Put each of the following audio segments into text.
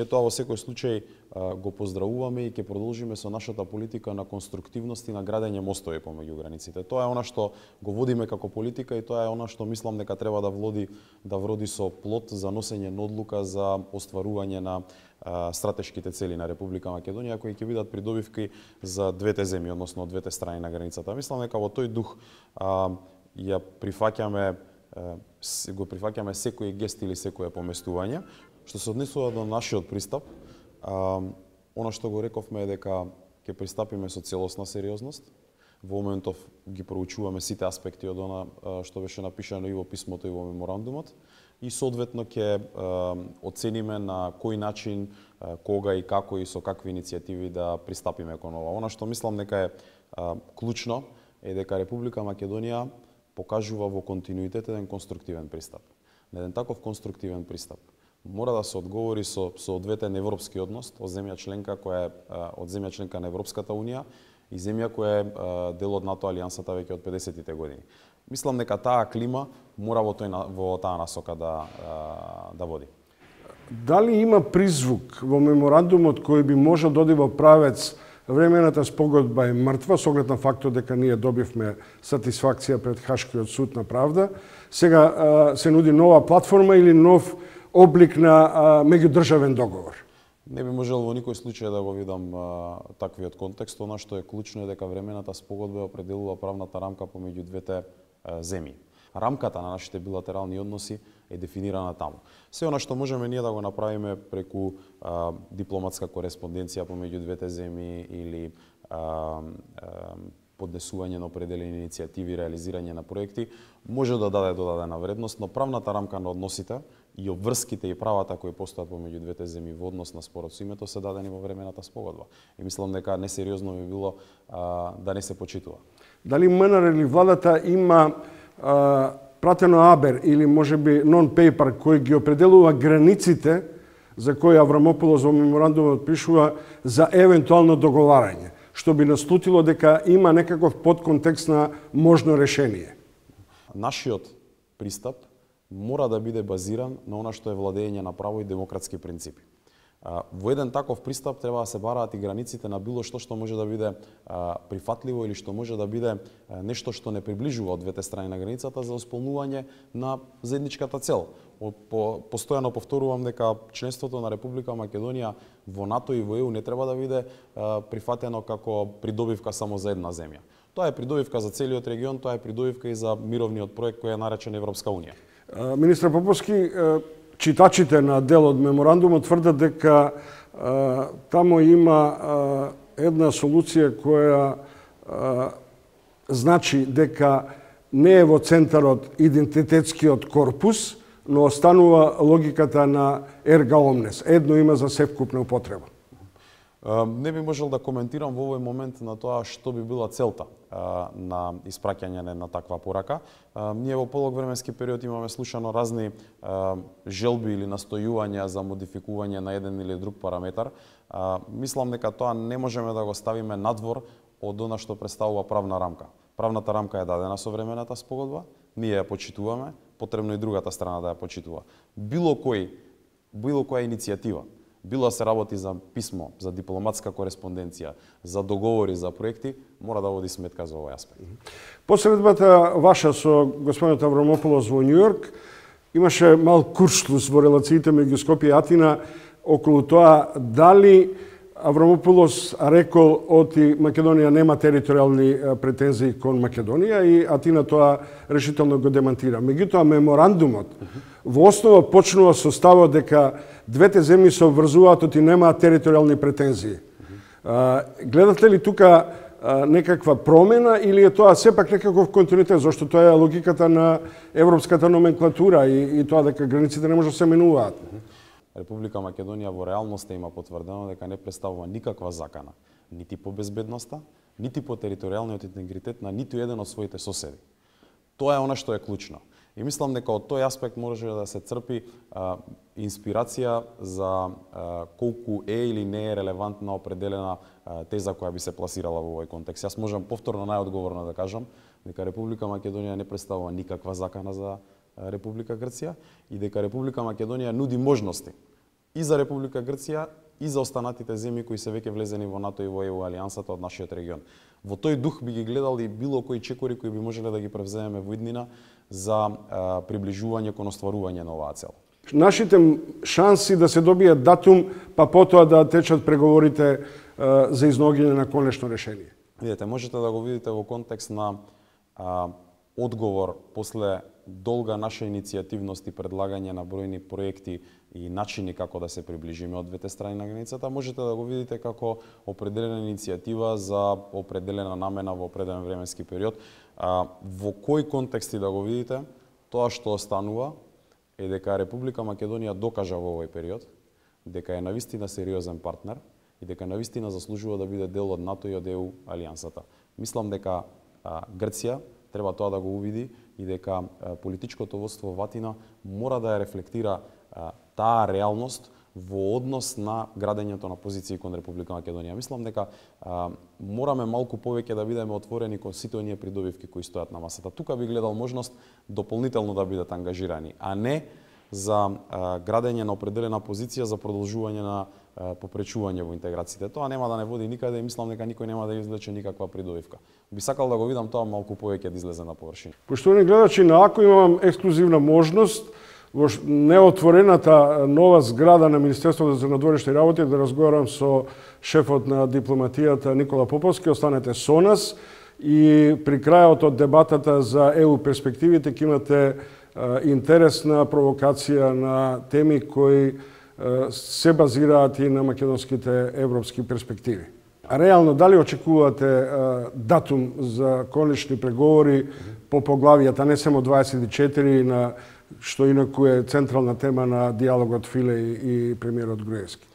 Ние тоа во секој случај го поздравуваме и ќе продолжиме со нашата политика на конструктивност и на градење мостови помеѓу границите. Тоа е она што го водиме како политика и тоа е она што мислам дека треба да вроди со плод за носење на одлука за остварување на стратешките цели на Република Македонија, кои ќе бидат придобивки за двете земји, односно од двете страни на границата. Мислам дека во тој дух го прифаќаме секој гест или секое поместување. Што се однесува до нашиот пристап, она што го рековме е дека ќе пристапиме со целосна сериозност. Во моментов ги проучуваме сите аспекти од она што беше напишано и во писмото и во меморандумот и соодветно ќе оцениме на кој начин, кога и како и со какви иницијативи да пристапиме кон ова. Она што мислам дека е клучно е дека Република Македонија покажува во континуитет еден конструктивен пристап. На еден таков конструктивен пристап мора да се одговори со соодветен европски однос од земја членка која е од земја членка на Европската унија и земја која е дел од НАТО алијансата веќе од 50-тите години. Мислам дека таа клима мора во таа насока да води. Дали има призвук во меморандумот кој би можел да оди во правец времената спогодба е мртва, со оглед на фактот дека ние добивме сатисфакција пред Хашкиот суд на правда. Сега се нуди нова платформа или нов облик на меѓудржавен договор? Не би можел во никој случај да го видам таквиот контекст. Она што е клучно е дека времената спогодба определува правната рамка помеѓу двете земји. Рамката на нашите билатерални односи е дефинирана таму. Се она што можеме ние да го направиме преку дипломатска кореспонденција помеѓу двете земји или поднесување на определени иницијативи, реализирање на проекти, може да даде додадена вредност, но правната рамка на односите и обврските и правата кои постојат помеѓу двете земји во однос на спорот со името се дадени во времената спогодба. И мислам дека несериозно би било да не се почитува. Дали МНР или владата има пратено абер или можеби нон-пейпер кој ги определува границите за кои Аврамополос во меморандумот пишува за евентуално договарање, што би наслутило дека има некаков подконтекст на можно решение? Нашиот пристап мора да биде базиран на она што е владење на право и демократски принципи. Во еден таков пристап треба да се бараат и границите на било што може да биде прифатливо или што може да биде нешто што не приближува од двете страни на границата за исполнување на заедничката цел. Постојано повторувам дека членството на Република Македонија во НАТО и во ЕУ не треба да биде прифатено како придобивка само за една земја. Тоа е придобивка за целиот регион, тоа е придобивка и за мировниот проект кој е наречен Европска унија. Министр Поповски, читачите на дел од меморандумот тврдат дека таму има една солуција која значи дека не е во центарот идентитетскиот корпус, но останува логиката на ерга омнес. Едно има за севкупна употреба. Не би можел да коментирам во овој момент на тоа што би била целта на испраќање на таква порака. Ние во полог временски период имаме слушано разни желби или настојувања за модификување на еден или друг параметар. Мислам дека тоа не можеме да го ставиме надвор од она што представува правна рамка. Правната рамка е дадена со времената спогодба, ние ја почитуваме, потребно и другата страна да ја почитува. Било која иницијатива, било се работи за писмо, за дипломатска кореспонденција, за договори, за проекти, мора да води сметка за овој аспект. Посредбата ваша со господинот Аврамополос во Њујорк имаше мал куршлус во релациите меѓу Скопје и Атина околу тоа дали Аврамополос рекол оти Македонија нема територијални претензии кон Македонија и Атина тоа решително го демантира. Меѓутоа меморандумот во основа почнува со ставот дека двете земји се обврзуваат оти немаат територијални претензии. Гледате ли тука некаква промена или е тоа сепак некаков континуитет, зашто тоа е логиката на европската номенклатура и тоа дека границите не може да се менуваат? Република Македонија во реалноста има потврдено дека не представува никаква закана, нити по безбедноста, нити по територијалниот интегритет на ниту еден од своите соседи. Тоа е она што е клучно. И мислам дека од тој аспект може да се црпи инспирација за колку е или не е релевантна определена теза која би се пласирала во овој контекст. Јас можам повторно најодговорно да кажам дека Република Македонија не представува никаква закана за Република Грција и дека Република Македонија нуди можности и за Република Грција и за останатите земји кои се веќе влезени во НАТО и во ЕУ алијансата од нашиот регион. Во тој дух би ги гледал и било кои чекори кои би можеле да ги превземеме во иднина за приближување кон остварување на оваа цел. Нашите шанси да се добие датум, па потоа да течат преговорите за изногиње на конечно решение. Видете, можете да го видите во контекст на одговор после долга наша иницијативност и предлагање на бројни проекти и начини како да се приближиме од двете страни на границата, можете да го видите како определена иницијатива за определена намена во определен временски период. Во кој контексти да го видите, тоа што останува е дека Република Македонија докажа во овој период дека е навистина сериозен партнер и дека навистина заслужува да биде дел од НАТО и од ЕУ алијансата. Мислам дека Грција треба тоа да го увиди и дека политичкото водство во Атина мора да ја рефлектира таа реалност во однос на градењето на позиции кон Република Македонија. Мислам дека мораме малку повеќе да бидеме отворени кон сите оние придобивки кои стојат на масата. Тука би гледал можност дополнително да бидат ангажирани, а не за градење на определена позиција за продолжување на попречување во интеграциите. Тоа нема да не води никаде и мислам дека никој нема да извлече никаква придобивка. Би сакал да го видам тоа малку повеќе да излезе на површина. Поштовани гледачи, на АКО имам ексклузивна можност во неотворената нова зграда на Министерството за надворешни работи да разговарам со шефот на дипломатијата Никола Поповски. Останете со нас и при крајот од дебатата за ЕУ перспективите ќе имате интересна провокација на теми кои се базираат и на македонските европски перспективи. А реално, дали очекувате датум за конечни преговори по поглавијата, не само 24, на што инаку е централна тема на диалогот Филе и премиерот Груевски?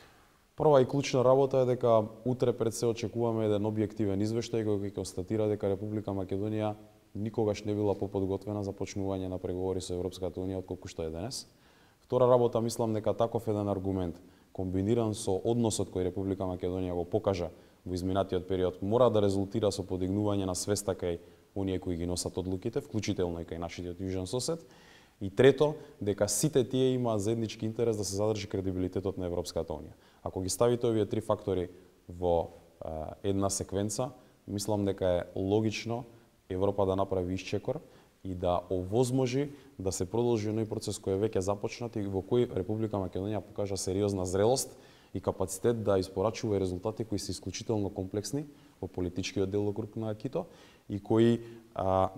Прва и клучна работа е дека утре пред се очекуваме еден објективен извештај кој ќе констатира дека Република Македонија никогаш не била поподготвена за почнување на преговори со Европската унија отколку што е денес. Втора работа, мислам дека таков еден аргумент, комбиниран со односот кој Република Македонија го покажа во изминатиот период, мора да резултира со подигнување на свеста кај оние кои ги носат одлуките, вклучително и кај нашиот јужен сосед. И трето, дека сите тие имаат заеднички интерес да се задржи кредибилитетот на Европската унија. Ако ги ставите овие три фактори во една секвенца, мислам дека е логично Европа да направи исчекор и да овозможи да се продолжи оној процес кој е веќе започнат и во кој Република Македонија покажа сериозна зрелост и капацитет да испорачува резултати кои се исклучително комплексни во политичкиот делокруг на АКИТО и кои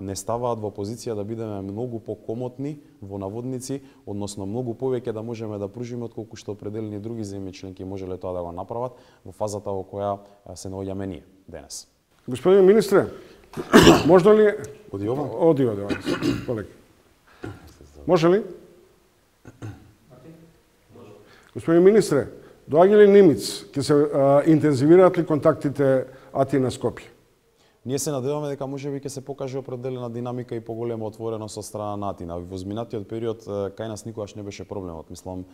не ставаат во позиција да бидеме многу покомотни во наводници, односно многу повеќе да можеме да пружиме отколку што определени други земји членки можеле тоа да го направат во фазата во која се наоѓаме ние денес. Господин министре, можно ли... Оди ова? Оди, полека. Може ли? Господин министре, доаѓа ли Нимиц? Ќе се интензивираат ли контактите Атина-Скопје? Ние се надеваме дека можеби ќе се покаже определена динамика и поголема отвореност од страна на Атина. Во изминатиот период кај нас никогаш не беше проблемот. Мислам,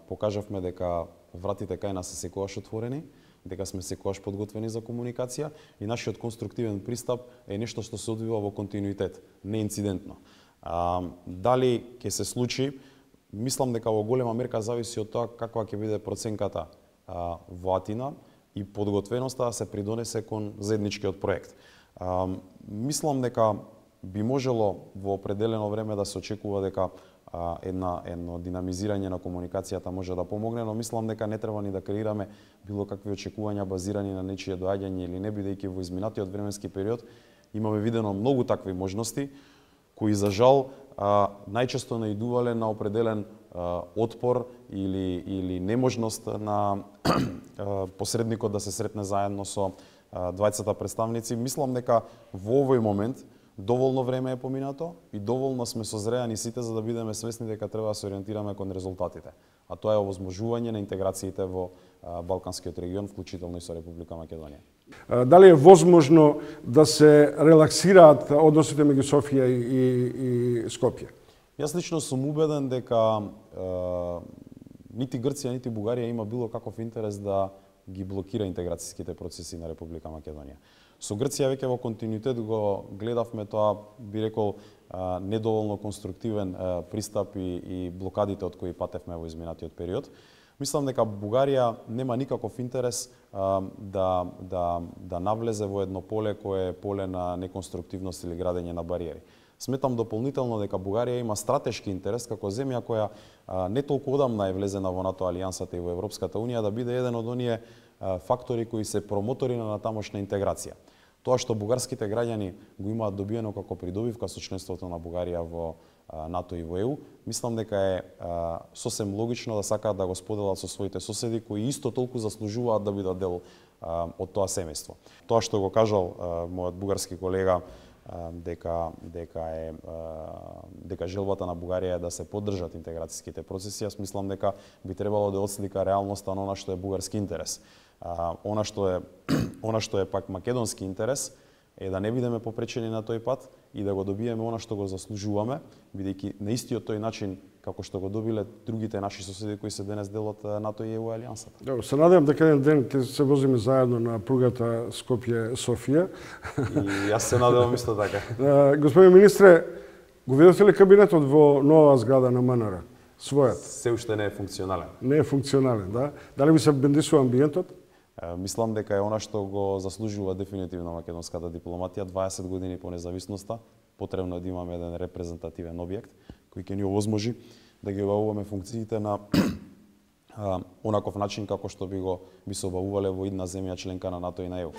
покажавме дека вратите кај нас се секогаш отворени, дека сме секогаш подготвени за комуникација и нашиот конструктивен пристап е нешто што се одвива во континуитет, не инцидентно. Дали ќе се случи, мислам дека во голема мерка зависи од тоа каква ќе биде проценката во Атина и подготвеноста да се придонесе кон заедничкиот проект. Мислам дека би можело во определено време да се очекува дека едно динамизирање на комуникацијата може да помогне, но мислам дека не треба ни да креираме било какви очекувања базирани на нечие доаѓање или не, бидејќи во изминатиот временски период имаме видено многу такви можности кои за жал најчесто наидувале на определен отпор или неможност на посредникот да се сретне заедно со двајцата представници. Мислам дека во овој момент доволно време е поминато и доволно сме созреани сите за да бидеме свесни дека треба да се ориентираме кон резултатите. А тоа е овозможување на интеграциите во Балканскиот регион, вклучително и со Република Македонија. Дали е возможно да се релаксираат односите меѓу Софија и Скопје? Јас лично сум убеден дека нити Грција, нити Бугарија има било каков интерес да ги блокира интеграцијските процеси на Република Македонија. Со Грција веќе во континуитет го гледавме тоа, би рекол, недоволно конструктивен пристап и блокадите од кои патевме во изминатиот период. Мислам дека Бугарија нема никаков интерес да навлезе во едно поле кое е поле на неконструктивност или градење на бариери. Сметам дополнително дека Бугарија има стратешки интерес како земја која не толку одамна е влезена во НАТО алијансата и во Европската унија да биде еден од оние фактори кои се промотори на тамошна интеграција. Тоа што бугарските граѓани го имаат добиено како придобивка со членството на Бугарија во НАТО и во ЕУ, мислам дека е сосем логично да сакаат да го споделат со своите соседи кои исто толку заслужуваат да бидат дел од тоа семејство. Тоа што го кажал мојот бугарски колега дека желбата на Бугарија е да се поддржат интеграцијските процеси, јас мислам дека би требало да отслика реалноста на она што е бугарски интерес. Она што е пак македонски интерес е да не бидеме попречени на тој пат и да го добиеме она што го заслужуваме, бидејќи на истиот тој начин како што го добиле другите наши соседи кои се денес дел од НАТО и ЕУ алијансата. Добро, се надевам дека еден ден ќе се возиме заедно на пругата Скопје-Софија. И јас се надевам исто така. Господин министре, го видовте ли кабинетот во нова зграда на МНР? Својот? Се уште не е функционален. Не е функционален, да? Дали би се бендисува амбиентот? Мислам дека е она што го заслужува дефинитивно македонската дипломатија. 20 години по независноста, потребно е да имаме еден репрезентативен објект кој ќе ни овозможи да ги обавуваме функциите на онаков начин како што би се обавувале во идна земја членка на НАТО и на ЕУ.